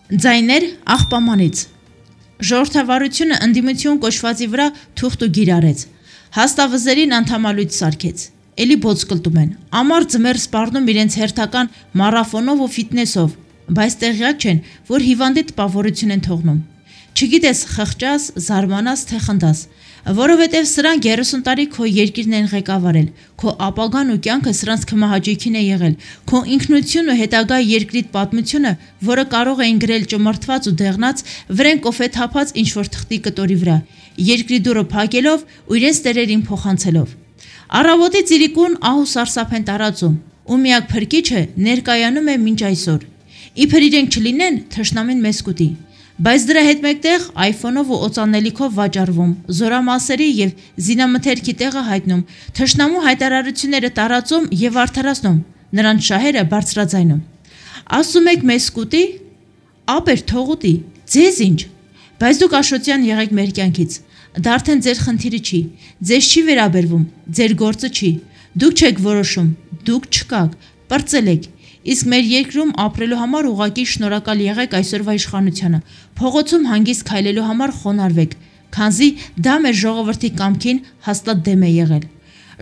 Ձայներ աղբամանից Ժողովրդավարությունը ընդդիմություն կոչվածի վրա թուղթ ու գիր արեց, հաստավզերին անդամալույց սարքեց, էլի բոց կլտում են, ամառ ձմեռ սպառնում իրենց հերթական մարաֆոնով ու ֆիթնեսով, բայց տեղյակ չեն, որ հիվանդի տպավորություն են թողնում, չգիտես խղճաս, զարմանաս, թե խնդաս, որովհետև սրանք 30 տարի քո երկիրն են ղեկավարել, քո ապագան ու կյանքը սրանց քմահաճույքին է եղել, քո ինքնությունն ու հետագա երկրիդ պատմությունը, որը կարող էին գրել ճմրթված ու դեղնած, վրեն կոֆե թափած ինչ-որ թղթի կտորի վրա, երկրի դուռը փակելով ու իրենց տերերին փոխանցելով։ Առավոտի ծիրիկուն ահ ու սարսափ են տարածում, ու միակ փրկիչը ներկայանում է մինչ այսօր։ Իբր իրենք չլինեն, թշնամին մեզ կուտի։ Բայց դրա հետ մեկտեղ iPhone-ով ու օծանելիքով վաճառվում, զորամասերի և զինամթերքի տեղը հայտնում, թշնամու հայտարարությունները տարածում և արդարացնում, նրանց շահերը բարձրաձայնում։ Ասում եք մեզ կուտի, ապեր թող ուտի, ձեզ ինչ, բայց դուք աշոտյան եղեք մեր կյանքից, դա արդեն ձեր խնդիրը չի, ձեզ չի վերաբերվում, ձեր գործը չի, դուք չեք որոշում, դուք չկաք, պրծել եք, իսկ մեր երկրում ապրելու համար ուղղակի շնորհակալ եղեք այսօրվա իշխանությանը, փողոցում հանգիստ քայլելու համար խոնարհվեք, քանզի դա մեր ժողովրդի կամքին հաստատ դեմ է եղել։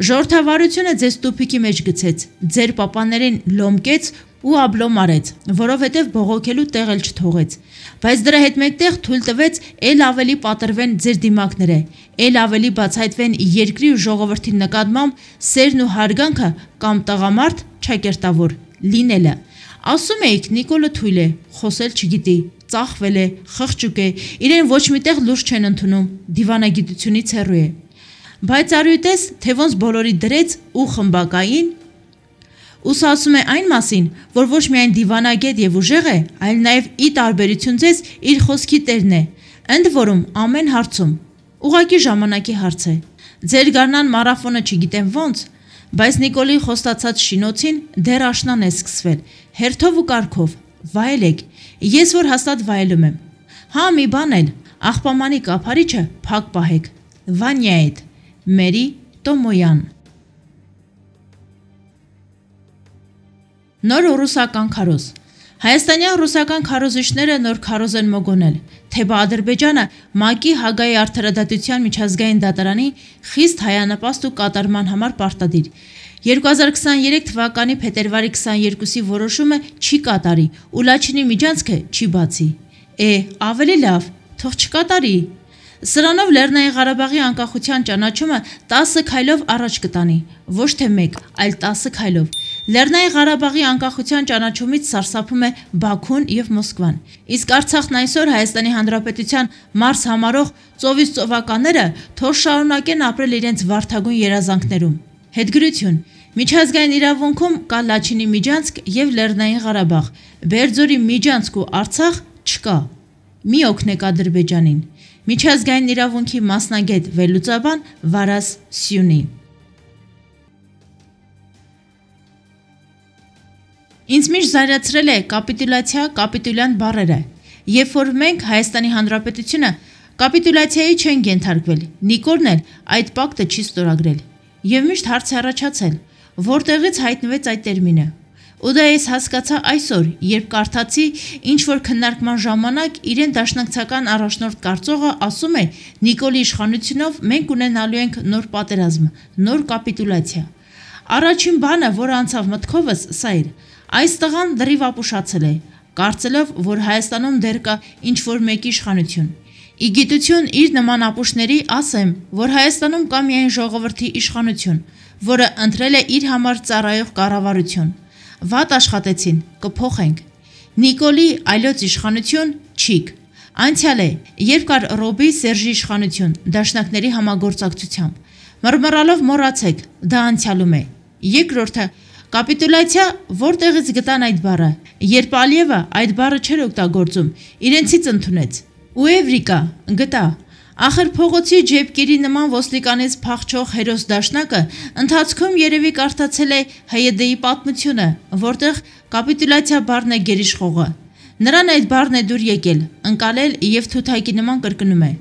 Ժողովրդավարությունը ձեզ տուփիկի մեջ գցեց, ձեր պապաներին լոմկեց ու աբլոմ արեց, որովհետև բողոքելու տեղ էլ չթողեց, բայց դրա հետ մեկտեղ թույլ տվեց էլ ավելի պատրվեն ձեր դիմակները, էլ ավելի բացահայտվեն երկրի ու ժողովրդի նկատմամբ սերն ու հարգանքը կամ տղամարդ չակերտավոր լինելը։ Ասում էիք Նիկոլը թույլ է, խոսել չգիտի, ծախվել է, խղճուկ է, իրեն ոչ միտեղ լուրջ չեն ընդունում, դիվանագիտությունից հեռու է։ Բայց արույտես, թե ոնց բոլորի դրեց ու խմբակային, ուսը ասում է այն մասին, որ ոչ միայն դիվանագետ և ուժեղ է, այլ նաև ի տարբերություն ձեզ իր խոսքի տերն է, ընդ որում ամեն հարցում, ուղղակի ժամանակի հարց է։ Ձեր գարնան մարաֆոնը չգիտեմ ոնց, բայց Նիկոլի խոստացած շինոցին դեռ աշնան է սկսվել, հերթով ու կարգով, վայելեք, ես որ հաստատ վայելում եմ։ Հա մի բան էլ, աղբամանի կափարիչը փակ պահեք, Վանյայիդ, Մերի Տոմոյան։ Նոր ռուսական քարոզ Հայաստանյան ռուսական քարոզիչները նոր քարոզ են մոգոնել, թեպա Ադրբեջանը ՄԱԿ-ի Հագայի արդարադատության միջազգային դատարանի խիստ հայանպաստ ու կատարման համար պարտադիր։ 2023 թվականի փետրվարի 22-ի որոշումը չի կատարի ու Լաչինի միջանցքը չի բացի։ Ավելի լավ, թող չկատարի։ Սրանով Լեռնային Ղարաբաղի անկախության ճանաչումը 10 քայլով առաջ կտանի, ոչ թե 1, այլ 10 քայլով։ Լեռնային Ղարաբաղի անկախության ճանաչումից սարսափում է Բաքուն և Մոսկվան, իսկ Արցախն այսօր Հայաստանի Հանրապետության Մարս համարող ծովից ծովականները թող շարունակեն ապրել իրենց վարդագույն երազանքներում։ Հետգրություն Միջազգային իրավունքում կա Լաչինի միջանցք և Լեռնային Ղարաբաղ, Բերձորի միջանցք ու Արցախ չկա։ Մի օգնեք Ադրբեջանին։ Միջազգային իրավունքի մասնագետ վերլուծաբան Վարազ Սյունի Ինձ միշտ զարացրել է կապիտուլյացիա, կապիտուլյան բառերը, երբ որ մենք Հայաստանի Հանրապետությունը կապիտուլյացիայի չենք ենթարկվել, Նիկոլն էլ այդ պակտը չի ստորագրել, և միշտ հարց է առաջացել, որտեղից հայտնվեց այդ տերմինը, ու դա ես հասկացա այսօր, երբ կարդացի ինչ-որ քննարկման ժամանակ իրեն դաշնակցական առաջնորդ կարծողը ասում է Նիկոլի իշխանությունով մենք ունենալու ենք նոր պատերազմ, նոր կապիտուլյացիա։ Առաջին բանը, որը անցավ մտքովս, սա էր. այս տղան լրիվ ապուշացել է, կարծելով, որ Հայաստանում դեռ կա ինչ-որ մեկի իշխանություն։ Ի գիտություն իր նման ապուշների ասեմ, որ Հայաստանում կա միայն ժողովրդի իշխանություն, որը ընտրել է իր համար ծառայող կառավարություն։ Վատ աշխատեցին, կփոխենք։ Նիկոլի այլոց իշխանություն չիկ։ Անցյալ է, երբ կար Ռոբի Սերժի իշխանություն, դաշնակների համագործակցությամբ։ Մռմռալով մոռացեք, դա անցյալում է։ Երկրորդը կապիտուլյացիա որտեղից գտան այդ բառը, երբ Ալիևը այդ բառը չէր օգտագործում, իրենցից ընդունեց։ Ու Էվրիկա գտա։ Ախր փողոցի ջեբկերի նման ոստիկանից փախչող հերոս դաշնակը ընթացքում երևի կարդացել է ՀՅԴ-ի պատմությունը, որտեղ կապիտուլյացիա բառն է գերիշխողը։ Նրան այդ բառն է դուր եկել, ընկալել և թութակի նման կրկնում է։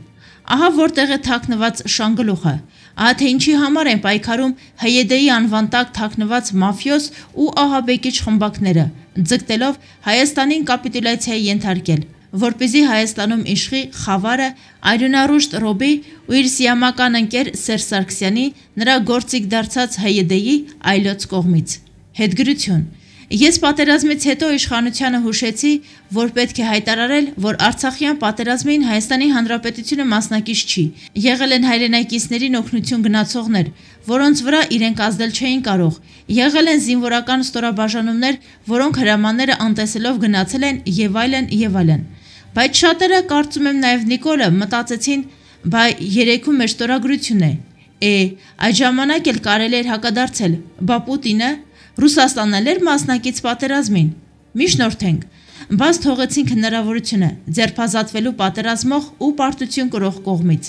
Ահա որտեղ է թաքնված շանգլուխը, ահա թե ինչի համար են պայքարում ՀՅԴ-ի անվան տակ թաքնված մաֆիոզ ու ահաբեկիչ խմբակները, ձգտելով Հայաստանին կապիտուլյացիայի ենթարկել, որպեսզի Հայաստանում իշխի խավարը արյունառուշտ Ռոբի ու իր սիամական ընկեր Սերժ Սարգսյանի նրա գործիք դարձած ՀՅԴ-ի այլոց կողմից։ Հետգրություն։ Ես պատերազմից հետո իշխանությանը հուշեցի, որ պետք է հայտարարել, որ Արցախյան պատերազմին Հայաստանի Հանրապետությունը մասնակից չի։ Եղել են հայրենակիցներին օգնություն գնացողներ, որոնց վրա իրենք ազդել չէին կարող։ Եղել են զինվորական ստորաբաժանումներ, որոնք հրամանները անտեսելով գնացել են եւ այլն եւ այլն։ Բայց շատերը, կարծում եմ նաեւ Նիկոլը, մտածեցին, բայ երեքում մեր ստորագրությունն է։ Այդ ժամանակ էլ կարելի էր հակադարձել, բա Պուտինը Ռուսաստանն էլ էր մասնակից պատերազմին։ Մի շնորհենք, բաց թողեցինք հնարավորությունը ձերբազատվելու պատերազմող ու պարտություն կրող կողմից։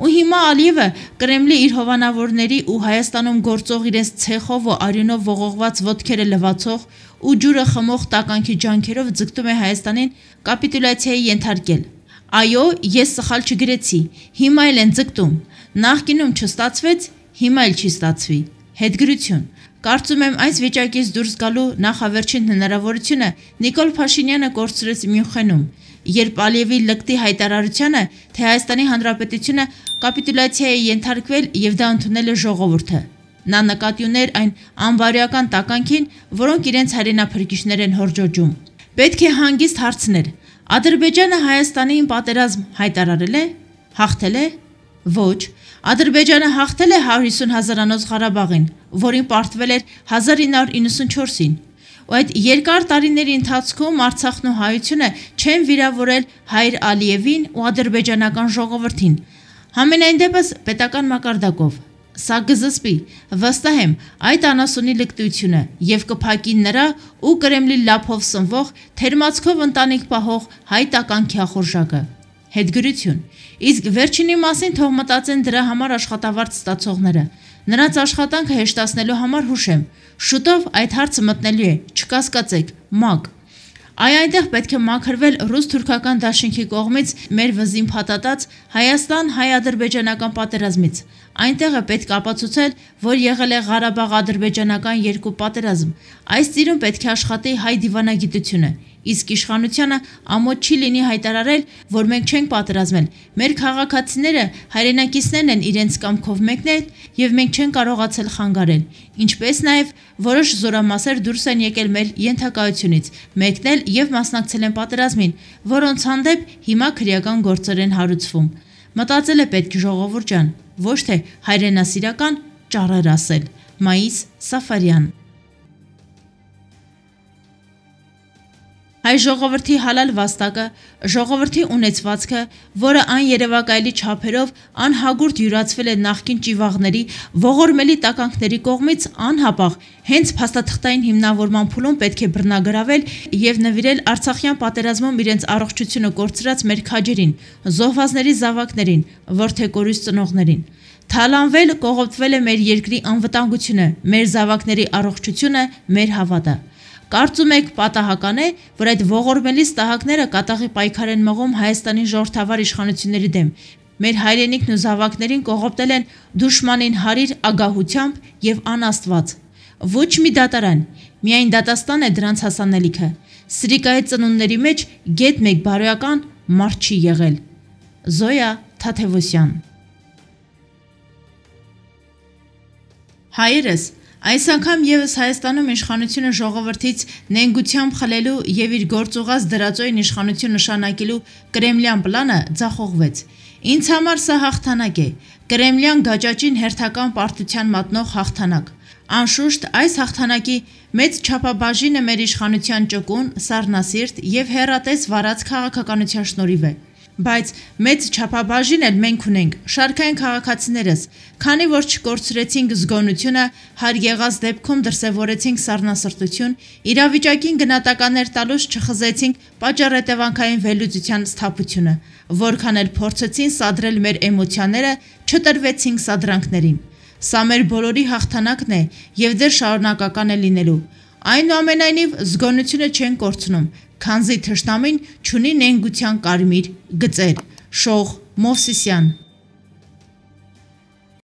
Ու հիմա Ալիևը Կրեմլի իր հովանավորների ու Հայաստանում գործող իրենց ցեխով ու արյունով ողողված ոտքերը լվացող ու ջուրը խմող տականքի ջանքերով ձգտում է Հայաստանին կապիտուլյացիայի ենթարկել։ Այո, ես սխալ չգրեցի, հիմա էլ են ձգտում։ Նախկինում չստացվեց, հիմա էլ չի ստացվի։ Հետգրություն։ Կարծում եմ այս վիճակից դուրս գալու նախավերջին հնարավորությունը Նիկոլ Փաշինյանը կորցրեց Մյունխենում, երբ Ալիևի լկտի հայտարարությանը, թե Հայաստանի Հանրապետությունը կապիտուլյացիայի ենթարկվել եւ դա ընդունել է ժողովուրդը։ Նա նկատի ուներ այն անբարոյական տականքին, որոնք իրենց հայրենափրկիչներ են հորդոջում։ Պետք է հանգիստ հարցնել. Ադրբեջանը Հայաստանին պատերազմ հայտարարել է, հաղթել է։ Ոչ, Ադրբեջանը հաղթել է 150 հազարանոց Ղարաբաղին, որին պարտվել էր 1994-ին։ Ու այդ երկար տարիների ընթացքում Արցախն ու հայությունը չեն վիրավորել հայր Ալիևին ու ադրբեջանական ժողովրդին։ Համենայն դեպս պետական մակարդակով։ Սա կզսպի, վստահ եմ, այդ անասունի լկտությունը եւ կփակի նրա ու Կրեմլի լափով սնվող թերմացքով ընտանիք պահող հայ տականքի ախորժակը։ Հետգրություն։ Իսկ վերջինի մասին թող մտածեն դրա համար աշխատավարձ ստացողները։ Նրանց աշխատանքը հեշտացնելու համար հուշեմ, շուտով այդ հարցը մտնելու է, չկասկածեք, ՄԱԿ։ Այնտեղ պետք է մաքրվել ռուս-թուրքական դաշինքի կողմից մեր վզին փաթաթած Հայաստան-հայ-ադրբեջանական պատերազմից։ Այնտեղ է պետք ապացուցել, որ եղել է Ղարաբաղ-ադրբեջանական երկու պատերազմ։ Այս ծիրուն պետք է աշխատի հայ դիվանագիտությունը։ Իսկ իշխանությանը ամոթ չի լինի հայտարարել, որ մենք չենք պատերազմել։ Մեր քաղաքացիները հայրենակիցներն են իրենց կամքով մեկնել եւ մենք չենք կարողացել խանգարել։ Ինչպես նաեւ որոշ զորամասեր դուրս են եկել մեր ենթակայությունից, մեկնել եւ մասնակցել են պատերազմին, որոնց հանդեպ հիմա քրեական գործեր են հարուցվում։ Մտածել է պետք ժողովուրդ ջան, ոչ թե հայրենասիրական ճառեր ասել։ Մայիս Սաֆարյան։ Հայ ժողովրդի հալալ վաստակը, ժողովրդի ունեցվածքը, որը այն երևակայելի չափերով անհագուրդ յուրացվել է նախկին ճիվաղների, ողորմելի տականքների կողմից անհապաղ, հենց փաստաթղթային հիմնավորման փուլում պետք է բռնագրավել եւ նվիրել Արցախյան պատերազմում իրենց առողջությունը կորցրած մեր քաջերին, զոհվածների զավակներին, որդեկորույս ծնողներին։ Թալանվել, կողոպտվել է մեր երկրի անվտանգությունը, մեր զավակների առողջությունը, մեր հավատը։ Կարծում եք պատահական է, որ այդ ողորմելի ստահակները կատաղի պայքար են մղում Հայաստանի ժողովրդավար իշխանությունների դեմ։ Մեր հայրենիքն ու զավակներին կողոպտել են դուշմանին հարիր ագահությամբ եւ անաստված։ Ոչ մի դատարան, միայն դատաստան է դրանց հասանելիքը։ Սրիկայի ծնունդների մեջ գետ մեկ բարոյական մարդ չի եղել։ Զոյա Թաթևոսյան։ Հայերս այս անգամ եւս Հայաստանում իշխանությունը ժողովրդից նենգությամբ խլելու եւ իր գործուղած դրածոյին իշխանություն նշանակելու կրեմլյան պլանը ձախողվեց։ Ինձ համար սա հաղթանակ է, կրեմլյան գաճաճին հերթական պարտության մատնող հաղթանակ։ Անշուշտ այս հաղթանակի մեծ չափաբաժինը մեր իշխանության ճկուն, սառնասիրտ եւ հեռատես վարած քաղաքականության շնորհիվ է։ Բայց մեծ չափաբաժին էլ մենք ունենք, շարքային քաղաքացիներս, քանի որ չկորցրեցինք զգոնությունը, հարյեղած դեպքում դրսևորեցինք սառնասրտություն, իրավիճակին գնահատականներ տալուց չխզեցինք պատճառ-հետևանքային վերլուծության սթափությունը, որքան էլ փորձեցին սադրել մեր էմոցիաները, չտրվեցինք սադրանքներին։ Սա մեր բոլորի հաղթանակն է եւ դեռ շարունակական է լինելու։ Այնուամենայնիվ զգոնությունը չեն կորցնում, քանզի թշնամին չունի նենգության կարմիր գծեր։ Շող Մովսիսյան